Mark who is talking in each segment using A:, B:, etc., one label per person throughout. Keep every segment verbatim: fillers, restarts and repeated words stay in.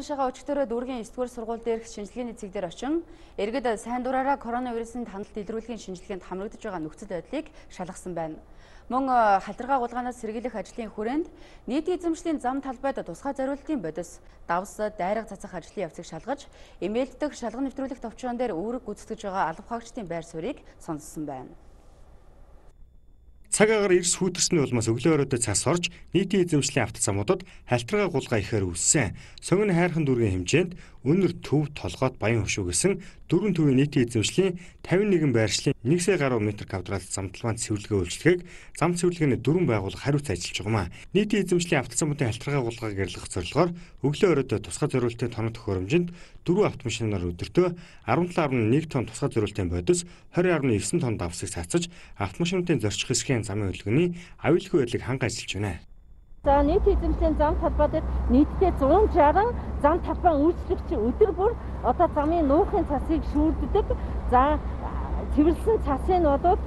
A: Шагаа өчигдөрөө дүүргийн эсдүгээр сургууль дээрх шинжилгээний цэг дээр очин иргэд сайн дураараа коронавирусын таналт илрүүлэхийн шинжилгээнд хамрагдаж байгаа нөхцөл байдлыг шалгасан байна. Мөн халдваргаа гулгаанаас сэргийлэх ажлын хүрээнд нийтийн эзэмшлийн зам талбайд тусгай зориултын бодис, давс, дайраг цацах ажлын явцыг шалгаж, эмээлт дэх шалган нэвтрүүлэх товчоон дээр үүрэг гүйцэтгэж байгаа алба хаагчдын байр суурийг сонссон байна.
B: Цаг агаар эрс хүүтэрсний улмаас өглөө оройдоо цас орж нийтийн эзэмшлийн автозамуудад халтрага гулгаа ихээр үүссэн. Сонгон хайрхан дүүргийн хэмжээнд өнөр төв толгойд баян хөшүүгсэн дөрвөн төвийн нийтийн эзэмшлийн тавин нэгэн байршлын нэг сая гаруй метр квадрат замталбаанд цэвэрлэгээ үйлчлэгийг зам цэвэрлэгээний дөрвөн байгууллага хариуц ажиллаж байгаа юм. Нийтийн эзэмшлийн автозамуудын халтрага гулгааг гэрлэх зорилгоор өглөө оройдоо тусгай зориултын тоног төхөөрөмжөнд дөрвөн автомашинаар өдөртөө арван талын арван нэг тонн тусгай зориултын бодис, двадцать арван девять тонн давсыг цацаж автомашинуудын зорчих хэсгийн замын хөдөлгөөний аюулгүй байдлыг ханга ажиллаж байна.
C: За нийтийн эзэмшлийн зам талбайд нийтдээ зуун шаран зам талбай үйлчлэгч өдөр бүр одоо замын нуухын цасыг шүүрддэг. За цэвэрлсэн цасын нодууд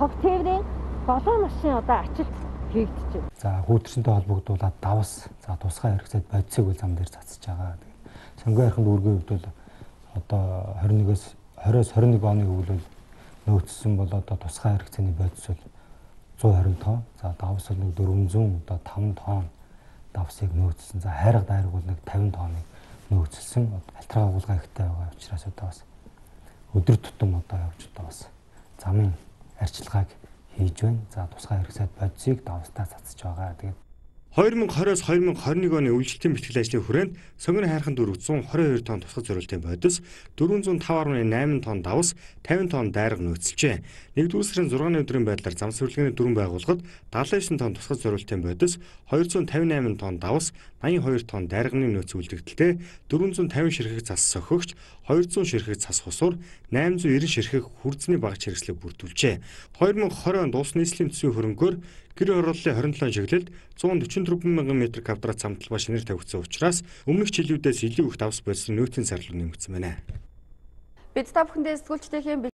C: хог тээврийн долоо машин одоо ачилт хийгдэж байна.
D: За хүүтэрсэнтэй холбогдуулаад давс, за тусгай хэрэгцээд бодисыг үл зам дээр цацж байгаа. Сонгон хайрхан дүүргийн хувьд бол одоо двадцать нэгээс двадцать двадцать нэг оны өвлөл нөөцсөн бол одоо тусгай хэрэгцээний бодис бол one hundred тонн, за давс бол нэг four hundred одоо five тонн давсыг нөөцсөн. За хайрга дайраг бол нэг fifty тонныг нөөцсөн. Халтрага гулгаа ихтэй байгаа учраас одоо бас өдөр тутам одоо явж одоо бас замын арчилгааг хийж байна. За тусгай хэрэгцээд бодисыг давстаа цацж байгаа. Тэгээд
B: two thousand twenty-оос two thousand twenty-one оны үйлчлэлтийн бэлтгэл ажлын хүрээнд сонгон хайрхан дүүрэг one hundred twenty-two тонн тусгай зориултын бодис, four oh five point eight тонн давс, fifty тонн дайраг нөөцлжээ. нэгдүгээр сарын six өдрийн байдлаар зам цэвэрлэгээний дөрвөн байгууллагад seventy-nine тонн тусгай зориултын бодис, two hundred fifty-eight тонн давс, eighty-two тонн дайрагны нөөц үлдэгдэлтэй four hundred fifty ширхэг цас сохигч, two hundred ширхэг цас хусуур, eight hundred ninety ширхэг хүрдсний багц хэрэгслийг бүрдүүлжээ. twenty twenty он улс нийслэлийн төсвийн хөрөнгөөр гэр хорооллын twenty-seven чиглэлд one hundred forty-four мянган метр квадрат замталбай шинээр тавигдсан учраас өмнөх жилүүдээс илүү их давс бодисны нөөцийн зарлал нэмэгдсэн байна.
A: Бид та бүхэндээ сэтгүүлчдийн